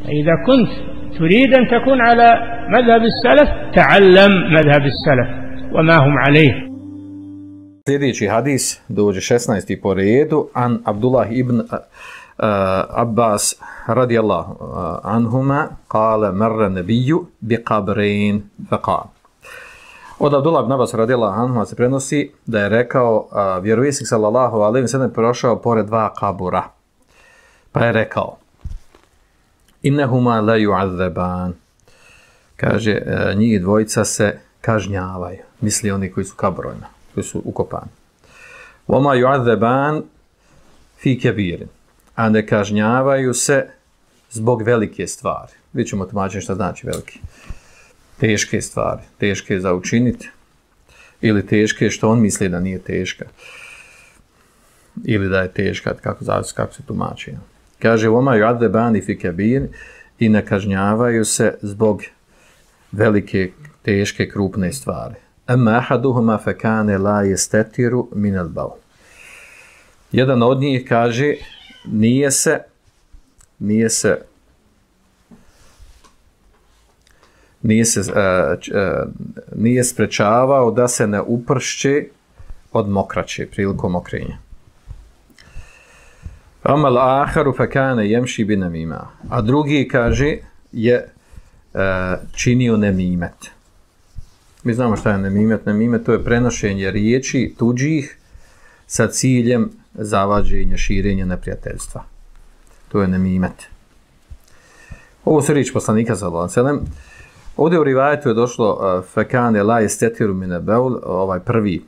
إذا كنت تريد أن تكون على مذهب السلف تعلم مذهب السلف وما هم عليه. Sljedeći hadis dođe 16. po redu an Abdullah ibn Abbas radijallahu anhuma kale marra nabiju bi qabrin faqal. Od Abdullah ibn Abbas radijallahu anhuma se prenosi da je rekao vjerovjesnik sallallahu alejhi ve sellem prošao pored dva kabura. Pa je rekao innahuma la yu'azzaban. Kaže njih dvojica se kažnjavaju. Misli oni koji su kaburovima, koji su ukopani. Wama yu'azzaban fi kabirin. A ne kažnjavaju se zbog velike stvari. Vidjet ćemo tumačiti šta znači velike. Teške stvari, teške za učiniti ili teške što on misli da nije teška ili da je teška, kako se tumači. Kaže, oma yu'adzabani fi kabir i ne kažnjavaju se zbog velike, teške, krupne stvari. Amma ahaduhuma fa kana la yastatiru min al-bawl. Jedan od njih kaže nije sprečavao da se ne upršće od mokraće prilikom mokrenja. Amal aharu fa kana yamshi bi namima. A drugi kaže je činio nemimet. Mi znamo šta je nemimet. Nemimet to je prenošenje riječi tuđih sa ciljem zavađenja, širenja neprijateljstva. To je nemimet. Ovo su riječi poslanika sallallahu alejhi ve sellem. Ovdje u rivajetu je došlo fekane la yastatiru min al-bawl, ovaj prvi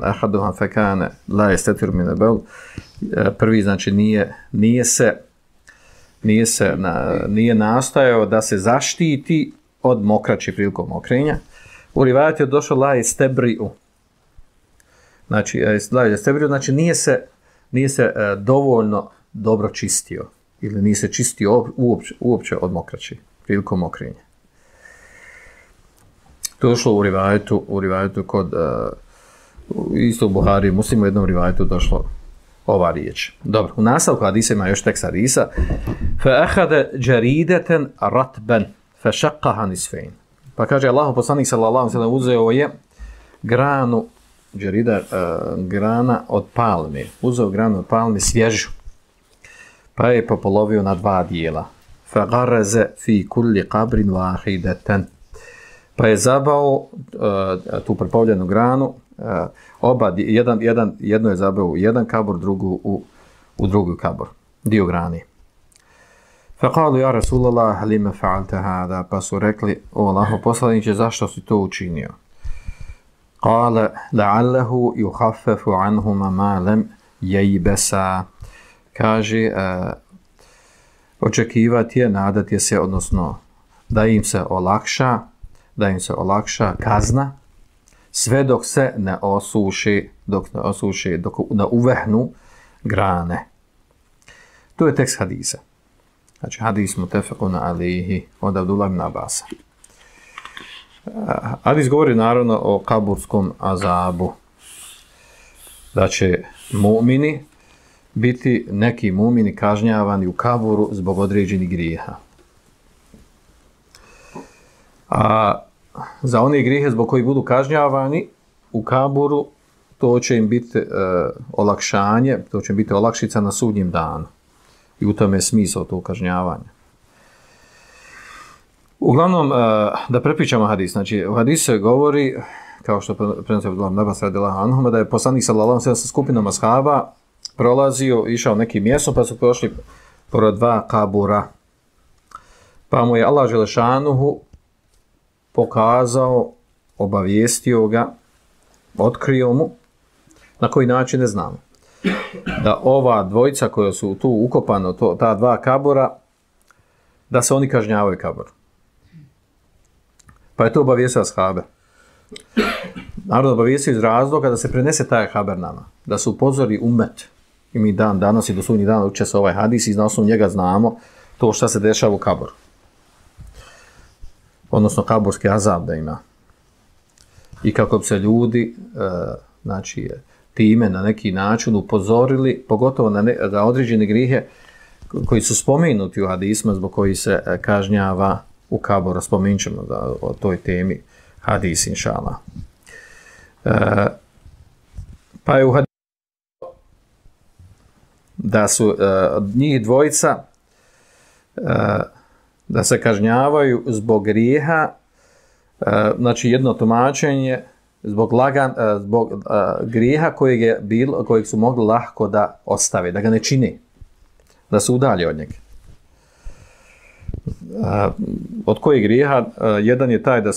ahaduhum fekane la yastatiru min al-bawl, prvi znači nije nastojao da se zaštiti od mokraće prilikom mokrenja. U rivajetu je došlo la yastabri'u. Znači la yastabri'u znači nije se dovoljno dobro čistio ili nije se čistio uopće od mokraće prilikom mokrenja. To je došlo u rivajetu kod isto u Buhari, Muslimu u jednom rivajetu došlo ova riječ. Dobro, u nastavku hadisa ima još tekst hadisa. Fa ahada jaridatan ratban fa shaqqaha nisfayn. Pa kaže Allahu poslanik sallallahu alejhi ve sellem uzeo je granu jarida, grana od palme. Uzeo granu od palme svježu. Pa je popolovio na dva dijela. Fa garaza fi kulli qabrin wahidatan. Pa je zabao tu prepolovljenu granu, jedno je zabao u jedan kabor, drugu u drugi kabor, dio grani. Faqalu ja Rasulallah, lima fa'alta hada, pa su rekli, o Allaho poslaniče, zašto si to učinio? Qala, la'allahu yukhaffafu anhuma ma lam yaybasa. Kaže, očekivati je, nadati je se, odnosno da im se olakša kazna sve dok se ne osuši, dok ne uvehnu grane. To je tekst hadisa. Znači hadis mutefekun alihi od Abdullah ibn Abbasa. Hadis govori naravno o kaburskom azabu. Da će mu'mini biti neki mu'mini kažnjavani u kaburu zbog određenih grijeha. A za one grijehe zbog koji budu kažnjavani u kaburu, to će im biti olakšanje, to će biti olakšica na sudnjem danu. I u tome je smisao tog kažnjavanja. Uglavnom, da prepričamo hadis. Znači, u hadisu se govori, kao što prenosi Abdullah ibn Abbas radijallahu anhuma, da je poslanik sallallahu alejhi ve sellem sa skupinom ashaba prolazio, išao nekim mjestom, pa su prošli pored dva kabura. Pa mu je Allah dželešanuhu pokazao, obavijestio ga, otkrio mu, na koji način ne znamo, da ova dvojica koja su tu ukopano, ta dva kabura, da se oni kažnjavaju kabor. Pa je to obavijestio ashabe. Naravno obavijestio iz razloga da se prenese taj haber nama, da se upozori umet. I mi danas i do sudnjeg dana uče se ovaj hadis i na osnovu njega znamo to šta se dešava u kaboru. Odnosno kaburski azab da ima. I kako bi se ljudi time na neki način upozorili, pogotovo na određene grijehe koji su spomenuti u hadisma zbog koji se kažnjava u kaboru. Spomenut ćemo o toj temi hadis, inšallah. Pa je u hadisu da su njih dvojica da se kažnjavaju zbog grijeha, znači jedno tumačenje zbog grijeha kojeg su mogli lahko da ostave, da ga ne čine, da se udalje od njega. Od kojeg grijeha? Jedan je taj da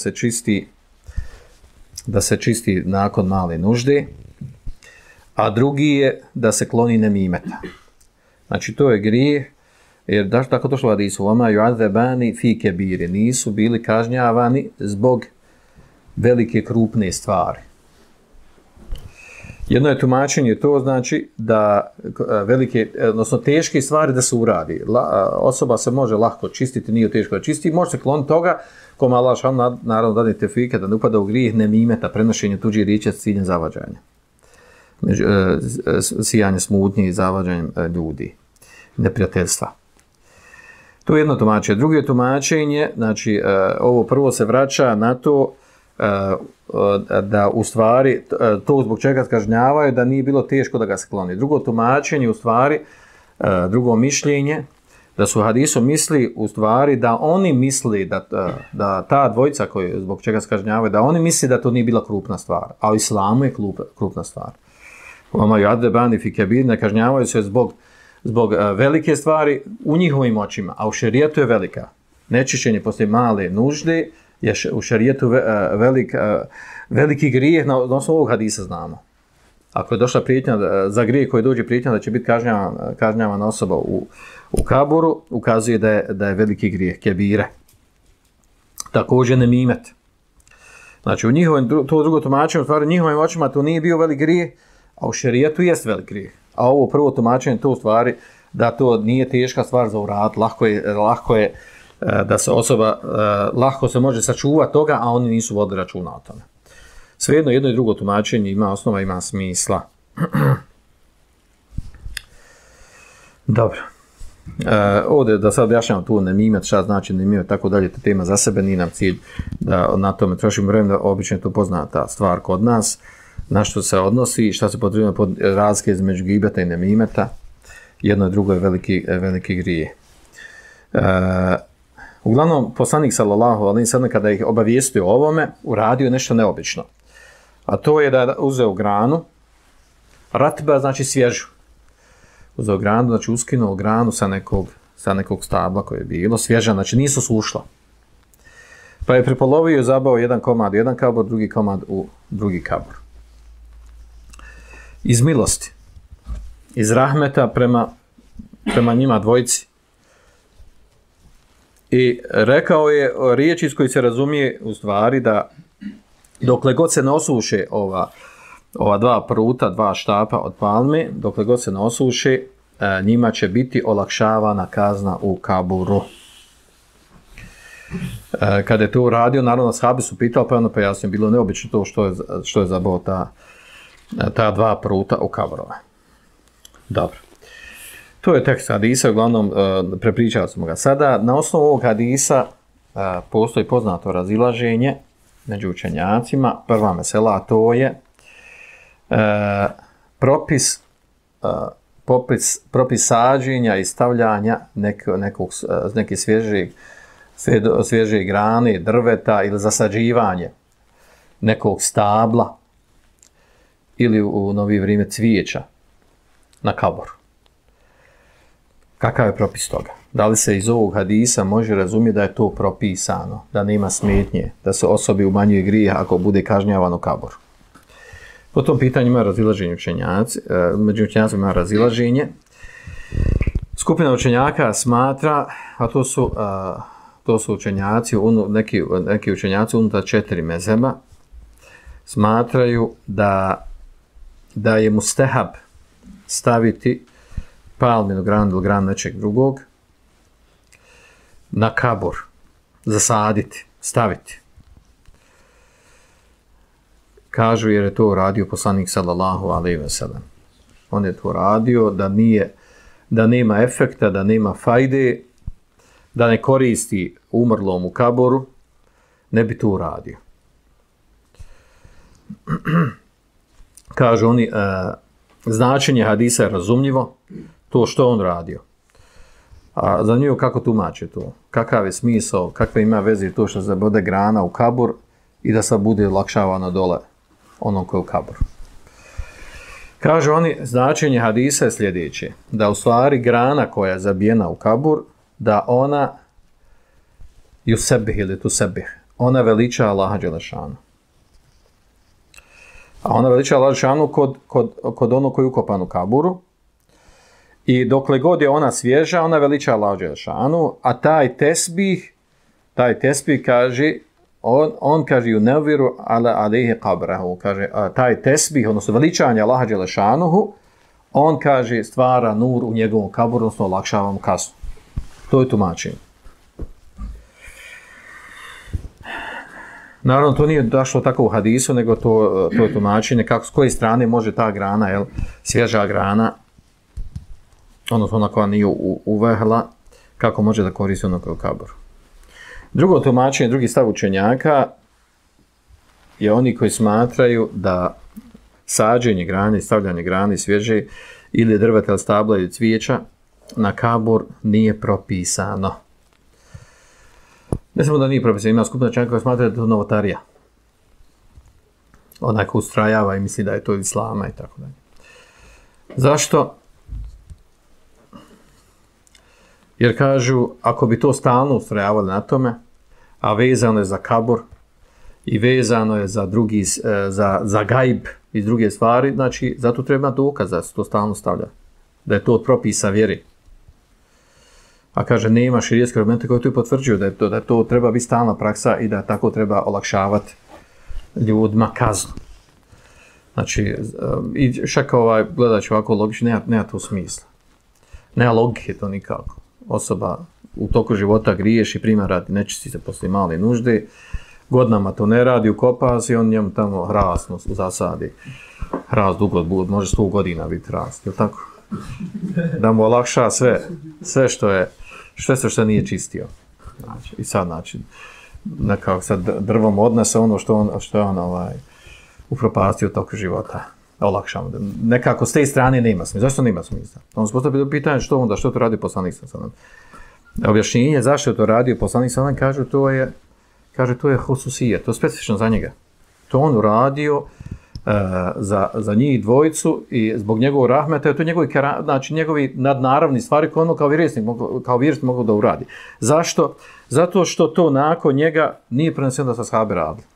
se čisti nakon male nužde, a drugi je da se kloni nemimeta. Znači to je grijeh, jer tako došlo u hadisu, وَمَا يُعَذَّبَانِ فِي كَبِيرِ, nisu bili kažnjavani zbog velike krupne stvari. Jedno je tumačenje to, znači da velike, odnosno teške stvari da se uradi. Osoba se može lahko čistiti, nije teško da čisti, može se kloniti toga, kome Allah naravno dadne tefike, da ne upada u grijeh nemimeta, prenošenje tuđih riječi s ciljem zavađanja. Sijanje smutnje i zavađanjem ljudi, neprijateljstva. To je jedno tumačenje. Drugo je tumačenje, znači ovo prvo se vraća na to da u stvari to zbog čega kažnjavaju da nije bilo teško da ga se kloni. Drugo tumačenje u stvari, drugo mišljenje, da su hadisom misli u stvari da oni misli da ta dvojica koji zbog čega se kažnjavaju, da oni misli da to nije bila krupna stvar, a u islamu je krupna stvar. Oma yadbani fi kabir, ne kažnjavaju se zbog velike stvari u njihovim očima, a u šerijetu je velika. Nečišćenje poslije male nužde je u šerijetu veliki grijeh, na osnovu ovog hadisa znamo. Ako je došla prijetnja, za grijeh koji dođe prijetnja da će biti kažnjavana osoba u kaburu, ukazuje da je veliki grijeh, kebire. Također nemimet. Znači u njihovim, to drugo tumačenje, u stvari u njihovim očima to nije bio velik grijeh, a u šerijetu jest velik grijeh. A ovo prvo tumačenje to u stvari da to nije teška stvar za uraditi, lako je da se osoba, lahko se može sačuvati toga, a oni nisu vodili računa o tome. Svejedno, jedno i drugo tumačenje ima osnova, ima smisla. Dobro. Ovdje da sad objašnjamo tu nemimet, šta znači nemimet, tako dalje, ta tema za sebe, nije nam cilj da na tome trošimo vreme, da obično je to poznata stvar kod nas, na što se odnosi, šta se potrebuje pod razlike između gibeta i nemimeta. Jedno i drugo je veliki grije. Uglavnom, poslanik sallallahu alejhi ve sellem kada ih obavijestio o ovome, uradio nešto neobično. A to je da je uzeo granu, ratba znači svježu. Uzeo granu, znači uskinuo granu sa nekog stabla koje je bilo, svježa, znači nisu sušla. Pa je prepolovio i zabao jedan komad u jedan kabor, drugi komad u drugi kabor. Iz milosti, iz rahmeta prema njima dvojici. I rekao je riječ iz koji se razumije u stvari da dokle god se ne osuše ova dva pruta, dva štapa od palme, dokle god se ne osuše, njima će biti olakšavana kazna u kaburu. Kada je to uradio, naravno ashabi su pitali, pa ono pa jasno bilo neobično to što je zabao ta dva pruta u kaburove. Dobro. To je tekst hadisa, uglavnom prepričali smo ga. Sada, na osnovu ovog hadisa postoji poznato razilaženje među učenjacima. Prva mesela, to je propis sađenja i stavljanja neke svježe grane, drveta ili zasađivanje nekog stabla ili u novije vrijeme cvijeća na kaboru. Kakav je propis toga? Da li se iz ovog hadisa može razumjeti da je to propisano, da nema smetnje, da se osobi umanjuje grijeh ako bude kažnjavan u kaboru? Po tom pitanju ima razilaženje učenjaci, među učenjacima ima razilaženje. Skupina učenjaka smatra, a to su učenjaci, neki učenjaci unutar 4 mezheba, smatraju da je mustehab staviti palminu granu ili granu nečeg drugog na kabor, zasaditi, staviti. Kažu jer je to radio poslanik sallallahu alejhi ve sellem. On je to radio da nije da nema efekta, da nema fajde, da ne koristi umrlom u kaboru, ne bi to uradio. Kažu oni, značenje hadisa je razumljivo, to što on radio. A zanimljivo kako tumače to, kakav je smisao, kakve ima veze to što se bude grana u kabur i da se bude olakšavano dole onom koji je u kaboru. Kažu oni, značenje hadisa je sljedeće, da u stvari grana koja je zabijena u kabur, da ona yusebih ili tusebih, ona veliča Allaha dželešanu. A ona veliča Allaha dželešanu kod onog koji je ukopan u kaburu, i dokle god je ona svježa, ona veliča Allaha dželešanu, a taj tesbih kaže, on kaže yunaviru ala alejhi qabrahu, kaže taj tesbih, odnosno veličanje Allaha dželešanuhu, on kaže stvara nur u njegovom kaburu, odnosno olakšava mu kaznu. To je tumačenje. Naravno, to nije došlo tako u hadisu, nego to je tumačenje kako, s koje strane može ta grana, svježa grana, odnosno ona koja nije uvehla, kako može da koristi ono kao kaboru. Drugo tumačenje, drugi stav učenjaka je oni koji smatraju da sađenje grane, stavljanje grane svježe ili drveta ili stabla ili cvijeća na kabur nije propisano. Ne samo da nije propisano, ima skupina učenjaka koji smatraju da je to novotarija. Onaj ko ustrajava i misli da je to islama i tako dalje. Zašto? Jer kažu, ako bi to stalno ustrajavali na tome, a vezano je za kabur i vezano je za drugi, za gajb i druge stvari, znači zato treba dokaz da se to stalno stavlja. Da je to od propisa vjeri. A kaže, nema širijetske argumente koji to potvrđuju da to treba biti stalna praksa i da tako treba olakšavati ljudima kaznu. Znači, i čak gledajući ovako logično, nema to smisla. Nema logike to nikako. Osoba u toku života griješ i prima radi, nečisti se poslije male nužde, godinama to ne radi, ukopa se i on njemu tamo hrast zasadi. Hrast dugo, može 100 godina biti hrast, je li tako? Da mu olakša sve što nije čistio. Znači, i sad, znači, nekako sad drvom odnese ono što je on upropastio toku života. Olakšamo. Nekako s te strane nema smisla. Zašto nema smisla? On se postavio pitanje što to radi poslanik sallallahu alejhi ve sellem. Objašnjenje zašto je to radio poslanik sallallahu alejhi ve sellem kaže to je hususije, to je specifično za njega. To on uradio za njih dvojicu i zbog njegovog rahmeta, to je njegovi nadnaravni stvari koje ono kao vjernik mogu da uradi. Zašto? Zato što to nakon njega nije preneseno da se ashabi radili.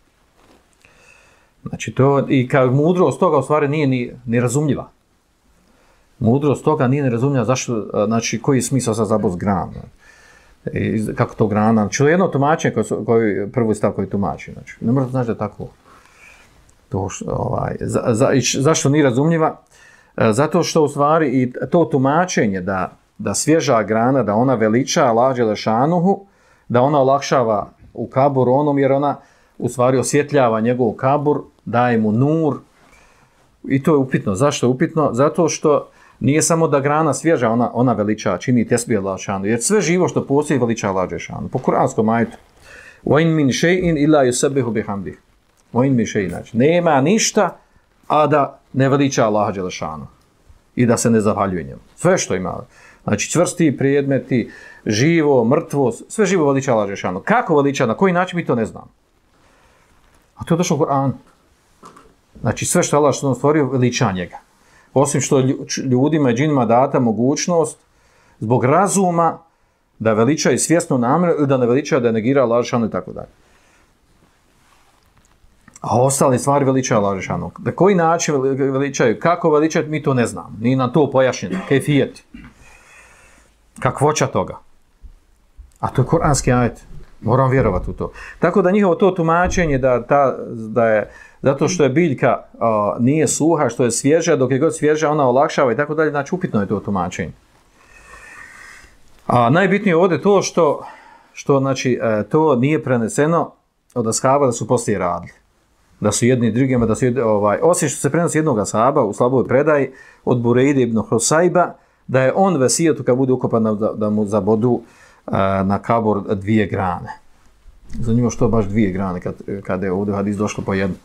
Znači to, i kao mudrost toga u stvari nije ni razumljiva. Mudrost toga nije ni razumljiva zašto, znači koji je smisao sa zabos grana. I kako to grana, znači jedno tumačenje prvi stav koji tumači, znači ne možete znači da je tako. Zašto nije razumljiva? Zato što u stvari i to tumačenje da svježa grana, da ona veliča Allaha dželešanuhu, da ona olakšava u kaburu onom, jer ona u stvari osvjetljava njegov kabur, daje mu nur, i to je upitno. Zašto je upitno? Zato što nije samo da grana svježa, ona veliča, čini tesbih Allaha dželešanuhu, jer sve živo što postoji veliča Allaha dželešanuhu. Po kuranskom ajetu وَإِنْ مِنْ شَيْءٍ إِلَّا يُسَبِّحُ بِحَمْدِهِ وَإِنْ مِنْ شَيْءٍ, znači nema ništa a da ne veliča Allaha dželešanuhu i da se ne zahvaljuje njemu. Sve što ima, znači čvrsti predmeti, živo, mrtvo, sve živo veliča Allaha dželešanuhu. Kako veliča, na koji način mi to ne znamo. A to je došlo u Kur'anu. Znači sve što Allah što stvorio veliča njega. Osim što ljudima i džinima data mogućnost zbog razuma da veličaju svjesno namjeru ili da ne veličaju, da negira Allaha dželešanuhu i tako dalje. A ostale stvari veličaju Allaha dželešanuhu. Na koji način veličaju, kako veličaju, mi to ne znamo. Nije nam to pojašnjeno. Kejfijeti. Kakvoća toga. A to je kuranski ajet. Moram vjerovati u to. Tako da njihovo to tumačenje da je zato što je biljka nije suha, što je svježa, dok je god svježa ona olakšava i tako dalje, znači upitno je to tumačenje. A najbitnije ovdje to što znači, to nije preneseno od ashaba da su poslije radili. Da su jedni drugima, osim što se prenosi jednog ashaba u slaboj predaji od Burejde ibn Husajba, da je on vesijetu kad bude ukopan da mu zabodu na kabur 2 grane. Zanimljivo što baš 2 grane kad je ovdje hadis došlo po jednu.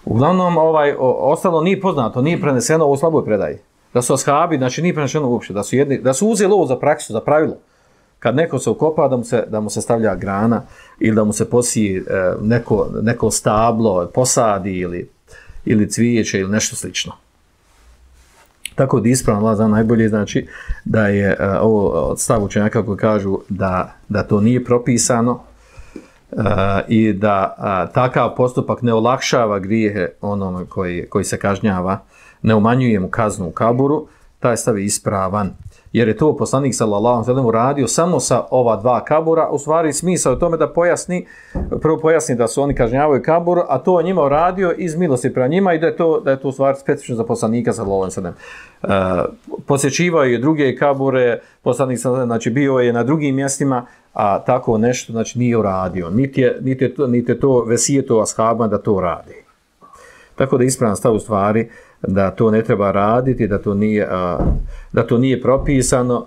Uglavnom, ostalo nije poznato, nije preneseno u slaboj predaji. Da su ashabi, znači nije preneseno uopće, da su uzeli ovo za praksu, za pravilo. Kad neko se ukopa, da mu se stavlja grana ili da mu se posije neko stablo, posadi ili cvijeće ili nešto slično. Tako da ispravno Allah zna najbolje, znači da je ovo od stav učenjaka koji kažu da to nije propisano i da takav postupak ne olakšava grijehe onome koji se kažnjava, ne umanjuje mu kaznu u kaburu, taj stav je ispravan. Jer je to poslanik sallallahu alejhi ve sellem uradio samo sa ova 2 kabura, u stvari smisao je tome da prvo pojasni da su oni kažnjavaju kabur, a to je njima uradio iz milosti prema njima i da je to u stvari specifično za poslanika sallallahu alejhi ve sellem. Posjećivao je druge kabure, poslanik sallallahu znači bio je na drugim mjestima, a tako nešto znači nije uradio. Niti je to vesijeto ashabima da to radi. Tako da ispravan stav u stvari da to ne treba raditi, da to nije propisano.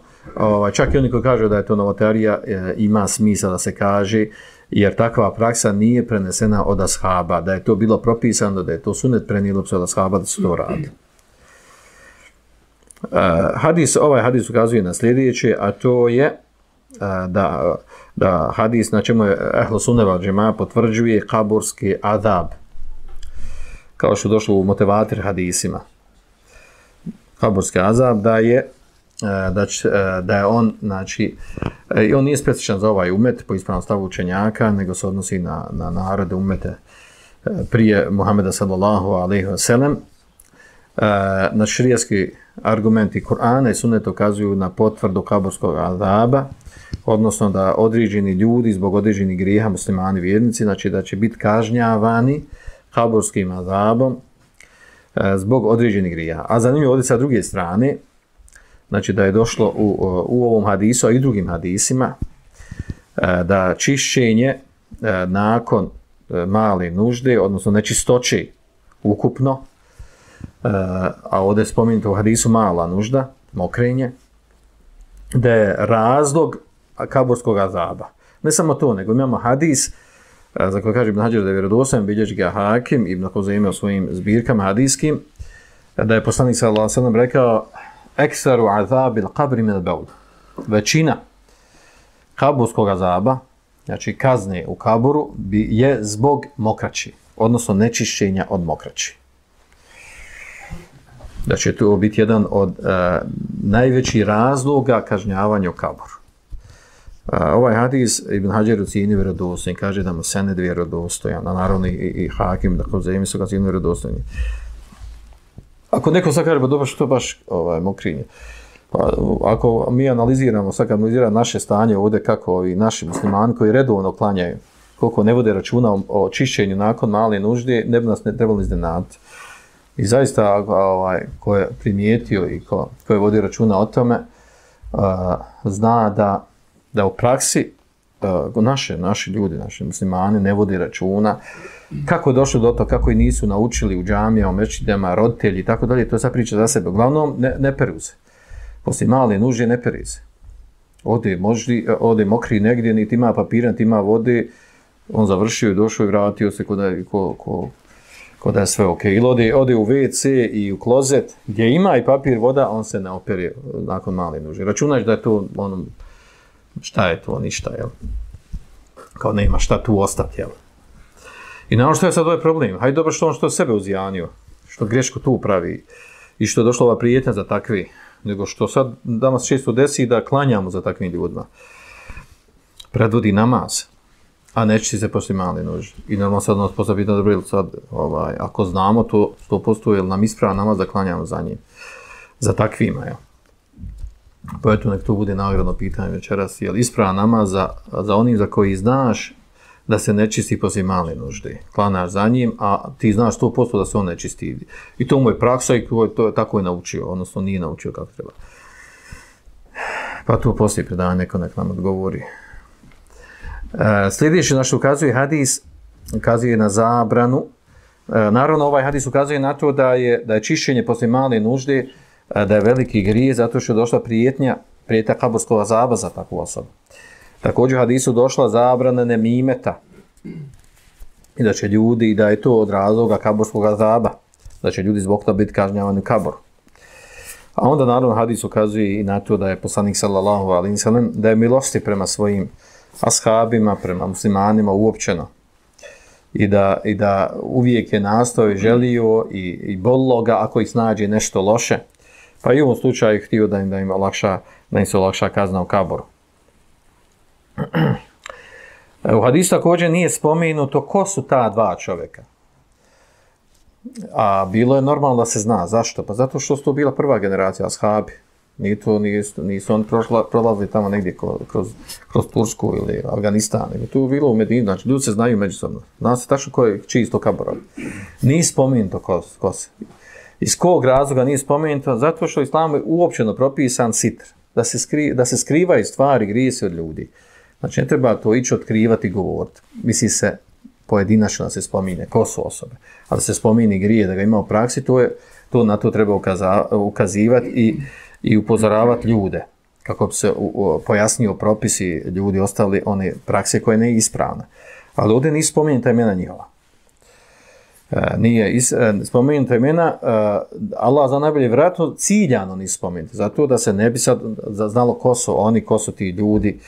Čak i oni koji kažu da je to novotarija, ima smisla da se kaže, jer takva praksa nije prenesena od ashaba, da je to bilo propisano, da je to sunet prenijelo se od ashaba da su to radili. Ovaj hadis ukazuje na sljedeće, a to je da hadis na čemu je Ehlu Sunne vel Džemaa potvrđuje kaburski azab, kao što je došlo u motivatir hadisima. Kaburski azab da je on, znači, i on nije specifičan za ovaj umet po ispravnom stavu učenjaka, nego se odnosi na narode umete prije Muhameda sallallahu alejhi ve sellem. Na šerijatski argumenti Kur'ana i Sunneta ukazuju na potvrdu kaburskog azaba, odnosno da određeni ljudi zbog određenih grijeha, muslimani vjernici, znači da će biti kažnjavani kaburskim azabom zbog određenih grijeha. A zanimljivo ovdje sa druge strane, znači da je došlo u ovom hadisu, a i drugim hadisima, da čišćenje nakon male nužde, odnosno nečistoće ukupno, a ovdje je spomenuto u hadisu mala nužda, mokrenje, da je razlog kaburskog azaba. Ne samo to, nego imamo hadis za koji kaže Ibn Hadžar da je vjerodostojan, bilježi ga Hakim, Ibn Huzejme u svojim zbirkama hadijskim, da je poslanik sallallahu alejhi ve sellem rekao: "Eksaru azabil qabri min al-bawl." Većina kaburskog azaba, znači kazne u kaburu, je zbog mokraći, odnosno nečišćenja od mokraći. Da će to biti jedan od najvećih razloga kažnjavanja u kaburu. Ovaj hadis Ibn Hadžar ocjenjuje vjerodostojan, kaže da mu sened vjerodostojan, a naravno i Hakim, da Huzejmi su ga ocjenjuje vjerodostojni. Ako neko sad kaže, dobro, što baš mokrinje? Pa, ako mi analiziramo, sad kad analiziramo naše stanje ovdje, kako ovi naši muslimani koji redovno klanjaju, koliko ne vode računa o čišćenju nakon male nužde, ne bi nas ne trebalo iznenaditi. I zaista, ko je primijetio i ko je vodio računa o tome, zna da u praksi naši ljudi, naši muslimani ne vodi računa kako je došlo do toga, kako i nisu naučili u džamijama, u mečidama, roditelji i tako dalje, to je sad priča za sebe. Uglavnom, ne peru se. Poslije male nužde ne peri se. Ode mokri negdje, niti ima papira, niti ima vode, on završio i došao i vratio se ko da je sve ok. Ili ode u WC i u klozet, gdje ima i papir, voda, on se ne opere nakon male nužde. Računaš da je to šta je to, ništa, jel? Kao nema šta tu ostati, jel? I naravno što je sad ovaj problem? Hajde dobro što sebe uzjanio, što greško tu pravi i što je došla ova prijetnja za takvi, nego što sad danas često desi da klanjamo za takvim ljudima. Predvodi namaz, a neće se poslije male nužde. I normalno sad nas postaviti na dobro, sad, ako znamo to 100%, jel nam isprava namaz da klanjamo za njim, za takvima, jel? Pa eto, nek to bude nagradno pitanje večeras, jel isprava namaz za onim za koji znaš da se ne čisti poslije male nužde. Klanaš za njim, a ti znaš 100% da se on ne čisti. I to mu je praksa i to je tako je naučio, odnosno nije naučio kako treba. Pa to poslije predavanja neko nek nam odgovori. Sljedeći naš ukazuje hadis, ukazuje na zabranu. Naravno, ovaj hadis ukazuje na to da je čišćenje poslije male nužde da je veliki grije zato što je došla prijetnja kaburskog azaba za takvu osobu. Također u hadisu došla zabrana nemimeta i da će ljudi, i da je to od razloga kaburskog azaba, da će ljudi zbog toga biti kažnjavani u kaboru. A onda naravno hadis ukazuje i na to da je poslanik sallallahu alejhi ve sellem da je milosti prema svojim ashabima, prema muslimanima uopćeno. I da uvijek je nastojao i želio i bolilo ga ako ih snađe nešto loše. Pa i u ovom slučaju htio da im se olakša kazna u kaboru. U hadisu također nije spomenuto ko su ta dva čovjeka. A bilo je normalno da se zna. Zašto? Pa zato što su to bila prva generacija ashabi. Nisu oni prolazili tamo negdje kroz Tursku ili Afganistan. Nego tu je bilo u Medini. Znači, ljudi se znaju međusobno. Zna se tačno čiji su to kaborovi. Nije spomenuto ko se. Iz kog razloga nije spomenuto? Zato što Islam je uopćeno propisan sitr. Da se skrivaju stvari, grijesi od ljudi. Znači, ne treba to ići otkrivati i govoriti. Misli se pojedinačno da se spomine ko su osobe. Ali da se spomini grije, da ga ima u praksi, na to treba ukazivati i upozoravati ljude. Kako bi se pojasnio propisi, ljudi ostali one prakse koje ne je ispravne. Ali ovdje nije spomenuta imena njihova. Nije spomenuta imena, Allah za najbolje vjerojatno ciljano nije spomenuta. Zato da se ne bi sad znalo ko su oni, ko su ti ljudi,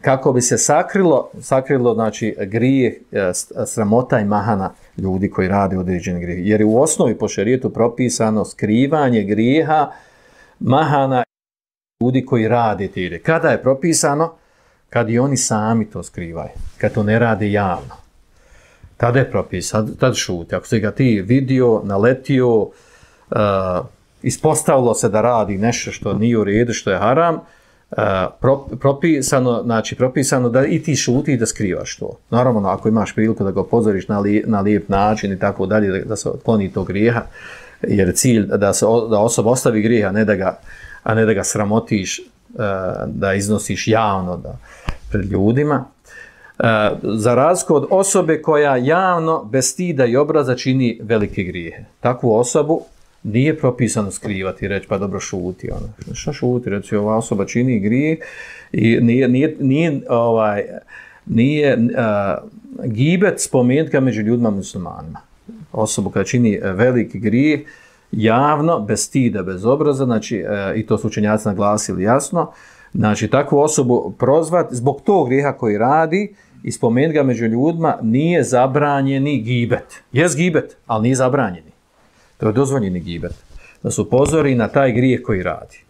kako bi se sakrilo znači grijeh, sramota i mahana ljudi koji rade određeni grijeh. Jer je u osnovi po šerijetu propisano skrivanje grijeha, mahana ljudi koji rade te grijehe. Kada je propisano? Kad i oni sami to skrivaju, kad to ne rade javno. Tada je propisano, tada šuti. Ako se ga ti vidio, naletio, ispostavilo se da radi nešto što nije u redu, što je haram, propisano da i ti šuti i da skrivaš to. Naravno, ako imaš priliku da ga upozoriš na lijep način i tako dalje, da se otkloni tog grijeha, jer cilj da osoba ostavi grijeha, a ne da ga sramotiš, da iznosiš javno pred ljudima. Za razliku od osobe koja javno, bez stida i obraza čini velike grijehe. Takvu osobu nije propisano skrivati i reći pa dobro šuti. Šta šuti? Reći ova osoba čini grijeh i nije gibet spomenuti ga među ljudima muslimanima. Osobu koja čini veliki grijeh javno, bez stida, bez obraza, znači, i to su učenjaci naglasili jasno, znači takvu osobu prozvati zbog tog grijeha koji radi i spomenuti ga među ljudima nije zabranjeni gibet. Jest gibet, ali nije zabranjeni. To je dozvoljeni gibet. Da se upozori na taj grijeh koji radi.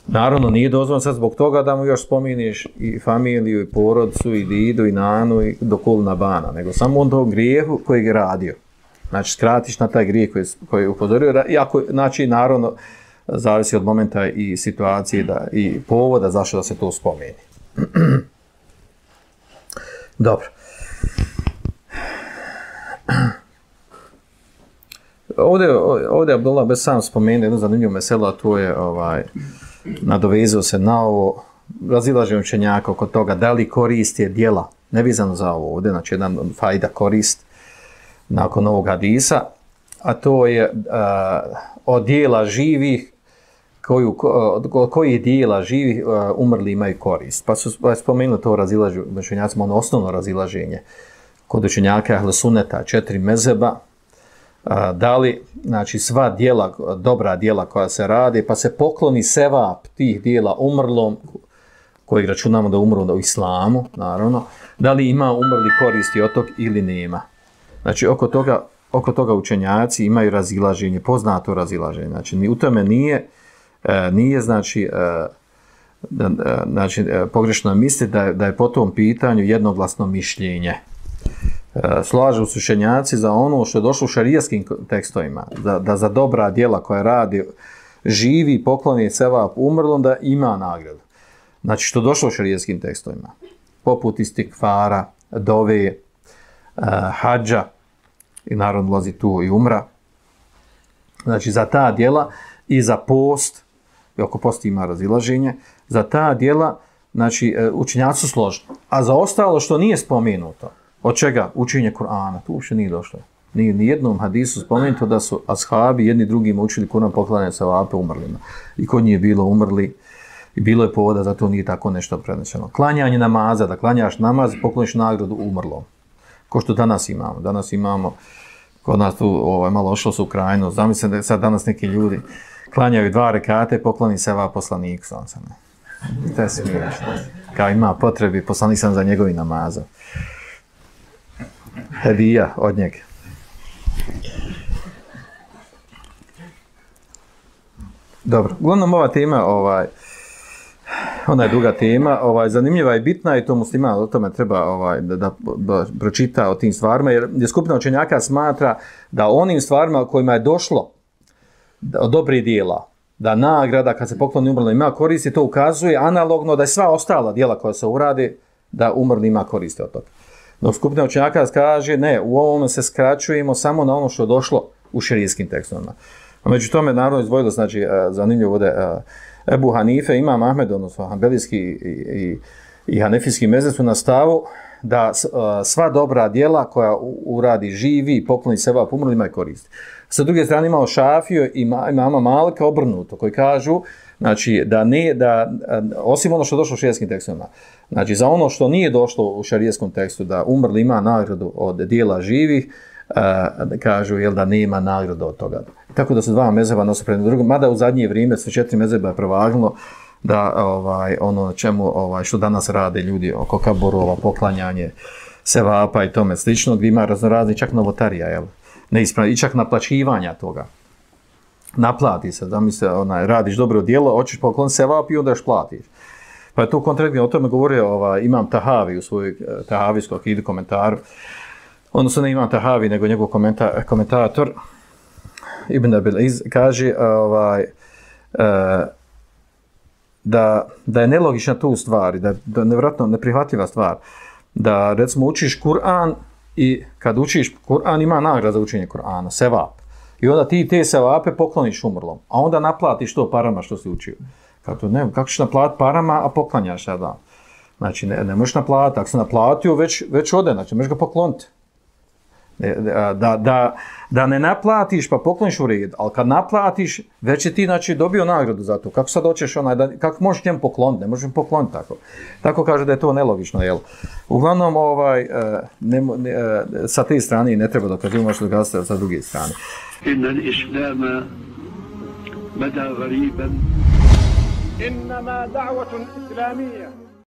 Naravno, nije dozvoljeno sad zbog toga da mu još spominiš i familiju, i porodcu, i didu, i nanu, i do kulna bana, nego samo on tog grijehu koji je radio. Znači, skratiš na taj grijeh koji je upozorio. Iako, znači, naravno, zavisi od momenta i situacije i povoda zašto da se to spomeni. Dobro. Ovdje Abdullah bez sam spomenuo jednu zanimljivu meselu, a to je nadovezao se na ovo razilaženje učenjaka oko toga da li korist je djela, nevezano za ovo ovdje, znači jedan fajda korist nakon ovog hadisa, a to je od dijela živih koji dijela živih umrli imaju korist. Pa su spomenuli to razilaženje učenjacima, ono osnovno razilaženje kod učenjaka ahl sunneta, 4 mezheba, da li, znači, sva djela, dobra djela koja se radi, pa se pokloni sevap tih djela umrlom, koji računamo da umru u islamu, naravno, da li ima umrli koristi od tog ili nema. Znači, oko toga učenjaci imaju razilaženje, poznato razilaženje. Znači, u tome nije pogrešno misli da je po tom pitanju jednoglasno mišljenje. Slažu su učenjaci za ono što je došlo u šarijaskim tekstovima, da za dobra djela koja radi živi, pokloni sevap umrlom, da ima nagradu. Znači, što je došlo u šarijaskim tekstovima, poput istikfara, dove, hadža, i naravno ulazi tu i umra. Znači, za ta djela i za post, i oko posta ima razilaženje, za ta djela, znači, učenjaci su složni. A za ostalo što nije spomenuto, od čega? Učenje Kur'ana, tu uopšte nije došlo. Nije ni jednom hadisu spomenuto da su ashabi jedni drugima učili Kur'an poklanjanje sevape umrlima. I kod njih je bilo umrli i bilo je povoda, zato nije tako nešto prenešeno. Klanjanje namaza, da klanjaš namaz, pokloniš nagradu umrlom. Ko što danas imamo. Danas imamo, kod nas tu malo ošlo su u krajinu, zamislim da sad danas neki ljudi klanjaju 2 rekate, pokloni sevap poslaniku. To je smiješno. Kao ima potrebi, poslanik sam za njegovi namaza. Hedija od njega. Dobro, uglavnom ova tema, ona je druga tema, zanimljiva i bitna i to musliman o tome treba da pročita o tim stvarima, jer je skupina učenjaka smatra da onim stvarima kojima je došlo od dobrih dijela, da nagrada kad se pokloni umrlo ima koristi, to ukazuje analogno da je sva ostala dijela koja se uradi, da umrli ima koristi od toga. Dok skupina učenjaka kaže, ne, u ovome se skraćujemo samo na ono što je došlo u šerijskim tekstovima. A među tome naravno izdvojilo, znači, zanimljivo ovdje, Ebu Hanife, Imam Ahmed, odnosno Hanbelijski i Hanefijski mezheb su na stavu da sva dobra djela koja uradi živi i pokloni sevap umrlima i koristi. Sa druge strane imamo Šafiju i imama Malika obrnuto, koji kažu, znači, da osim ono što je došlo u šerijskim tekstovima, znači, za ono što nije došlo u šerijskom tekstu, da umrli ima nagradu od djela živih, kažu da nema nagrada od toga. Tako da su 2 mezheba nasuprot drugom, mada u zadnje vrijeme sve 4 mezheba je prevagnulo da ono čemu što danas rade ljudi oko kaburova, poklanjanje sevapa i tome slično, gdje ima raznorazni čak novotarija, i čak naplaćivanja toga. Naplati se, da mi se radiš dobro djelo, hoćeš poklon sevap i onda još platiš. Pa je tu kontradiktorno, o tome govorio Imam Tahavi u svojoj tahavijskoj akidu komentaru. Odnosno ne Imam Tahavi, nego njegov komentator Ibn Abil Iz kaže da je nelogična tu stvar, da je nevjerojatno neprihvatljiva stvar, da recimo učiš Kur'an i kad učiš Kur'an ima nagrada za učenje Kur'ana, sevap. I onda ti te sevape pokloniš umrlom, a onda naplatiš to parama što si učio. Kako ćeš naplatiti parama, a poklanjaš sada? Znači ne možeš naplatiti, ako si naplatio već ode, znači možeš ga pokloniti. Da ne naplatiš pa pokloniš u red, ali kad naplatiš već je ti znači dobio nagradu za to. Kako sad hoćeš kako možeš njemu pokloniti? Ne možeš pokloniti tako. Tako kaže da je to nelogično, jel? Uglavnom sa te strane ne treba dokazivati, možeš dokazati sa druge strane. Inna al-islama bada ghariban. Innama da'watun islamiyya